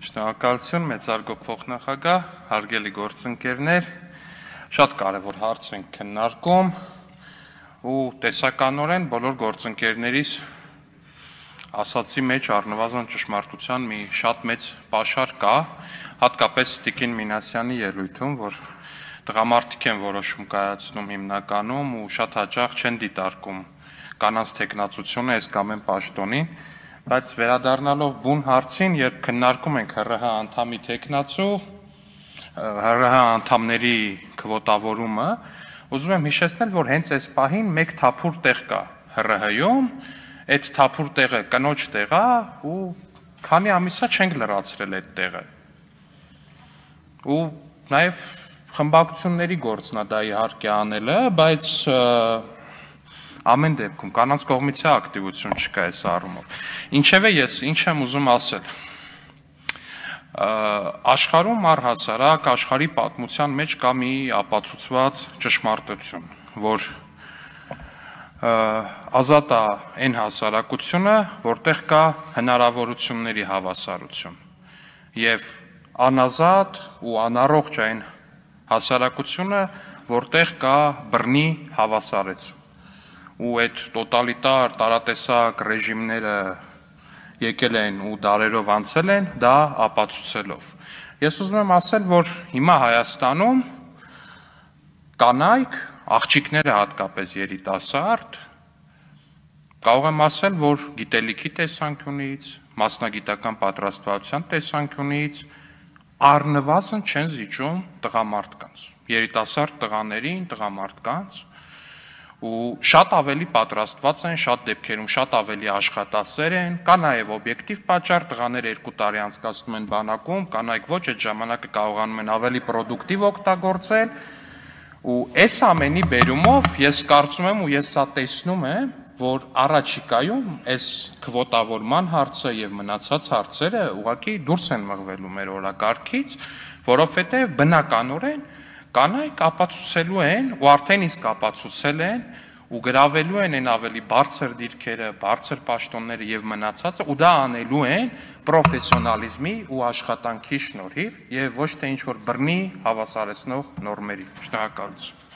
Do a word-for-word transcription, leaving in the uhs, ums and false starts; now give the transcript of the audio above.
Շնորհակալություն, մեծարգո փոխնախագահ, հարգելի գործընկերներ, շատ կարևոր հարց ենք քննարկում ու տեսականորեն բոլոր գործընկերներիս ասացի մեջ առնվազն ճշմարտության մի շատ մեծ պաշար կա, հատկապես Տիկին Մինասյանի ելույթում, որ տղամարդիկ են որոշում կայացնում հիմնականում ու շատ հաճախ չեն դիտարկում կանանց թեկնածությունը այս կամ այն պաշտոնին, բայց վերադառնալով բուն հարցին, երբ քննարկում ենք ՀՌՀ անդամի թեկնածու, ՀՌՀ անդամների քվոտավորումը, ուզում եմ հիշեցնել, որ հենց այս պահին մեկ թափուր տեղ կա ՀՌՀ-ում, այդ թափուր տեղը կնոջ տեղ է ու քանի ամիսա չենք լրացրել այդ տեղը։ Ու նաև խմբակցությունների գործն է դա իհարկե անելը, բայց ամեն դեպքում կանանց կողմից է ակտիվություն չկա այս առումով։ Ինչևէ ես ինչ եմ ուզում ասել։ Աշխարհում առհասարակ աշխարհի պատմության մեջ կա մի ապացուցված ճշմարտություն, որ ազատ է այն հասարակությունը, որտեղ կա հնարավորությունների հավասարություն, եւ անազատ ու անառողջ այն հասարակությունը, որտեղ կա բռնի հավասարեցում։ Ու այդ տոտալիտար տարատեսակ ռեժիմները եկել են ու դարերով անցել են, դա ապացուցելով։ Ես ուզում եմ ասել, որ հիմա Հայաստանում կանայք, աղջիկները հատկապես երիտասարդ, կարող եմ ասել, որ գիտելիքի տեսանկյունից, մասնագիտական պատրաստվածության տեսանկյունից առնվազն չեն զիջում տղամարդկանց, երիտասարդ տղաներին, տղամարդկանց, ու շատ ավելի պատրաստված են, շատ դեպքերում շատ ավելի աշխատասեր են, կա նաև օբյեկտիվ պատճառ, տղաները երկու տարի անցկացնում են բանակում, կանայք ոչ, այդ ժամանակը կարողանում են ավելի պրոդուկտիվ օգտագործել, ու այս ամենի բերումով ես կարծում եմ ու ես սա տեսնում եմ, որ առաջիկայում այս քվոտավորման հարցը եւ մնացած հարցերը ուղղակի դուրս են մղվելու մեր օրակարգից, որովհետեւ բնականորեն կանայք ապացուցելու են ու արդեն իսկ ապացուցել են ու գրավելու են այն ավելի բարձր դիրքերը, բարձր պաշտոնները եւ մնացածը ու դա անելու են պրոֆեսիոնալիզմի ու աշխատանքի շնորհիվ եւ ոչ թե ինչ որ բռնի հավասարեցնող նորմերի։ Շնորհակալություն։